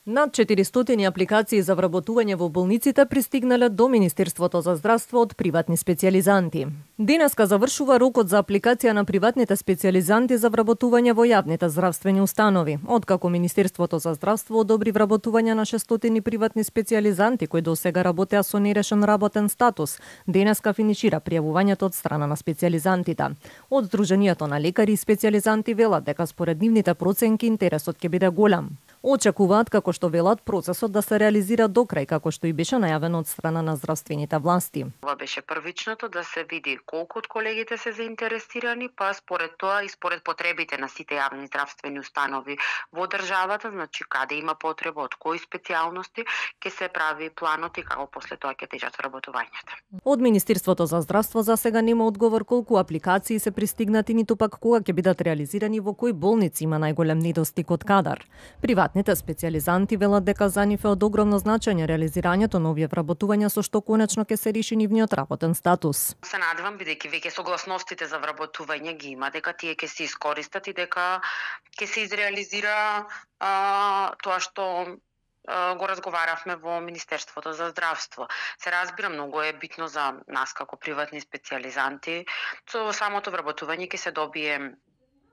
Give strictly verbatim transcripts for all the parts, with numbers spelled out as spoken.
Над четиристотини апликации за вработување во болниците пристигнале до Министерството за здравство од приватни специјализанти. Денеска завршува рокот за апликација на приватните специјализанти за вработување во јавните здравствени установи. Откако Министерството за здравство одобри вработување на шестстотини приватни специјализанти кои досега работеа со нерешен работен статус, денеска финишира пријавувањето од страна на специјализантите. Од Сдруженијето на лекари и специјализанти велат дека според нивните проценки интересот ќе биде голем. Очекуваат, како што велат, процесот да се реализира до крај, како што и беше најавено од страна на здравствените власти. Ова беше првичното, да се види колку од колегите се заинтересирани, па според тоа и според потребите на сите јавни здравствени установи во државата, значи каде има потреба, од кои специјалности, ќе се прави планот и како после тоа ќе течат вработувањата. Од Министерството за здравство за сега нема одговор колку апликации се пристигнати, ниту пак кога ќе бидат реализирани, во кои болници има најголем недостиг од кадар. Приватните специјализанти велат дека за нив е од огромно значење реализирањето на овие вработувања, со што конечно ќе се реши нивниот работен статус. Се надевам, бидејќи веќе согласностите за вработување ги има, дека тие ќе се искористат и дека ќе се изреализира а, тоа што го разговаравме во Министерството за здравство. Се разбира, многу е битно за нас како приватни специјализанти. Со самото вработување ќе се добие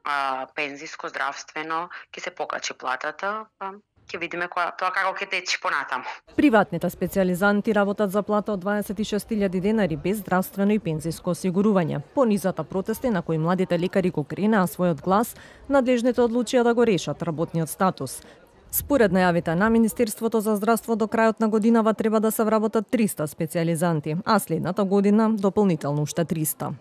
а, пензиско, здравствено, ќе се покачи платата, а, ќе видиме која, тоа како ќе течи понатаму. Приватните специјализанти работат за плата од дваесет и шест илјади денари без здравствено и пензиско осигурување. По низата протести на кои младите лекари го кренаа својот глас, надлежните одлучија да го решат работниот статус. Според најавите на Министерството за здравство, до крајот на годинава треба да се вработат триста специјализанти, а следната година дополнително уште триста.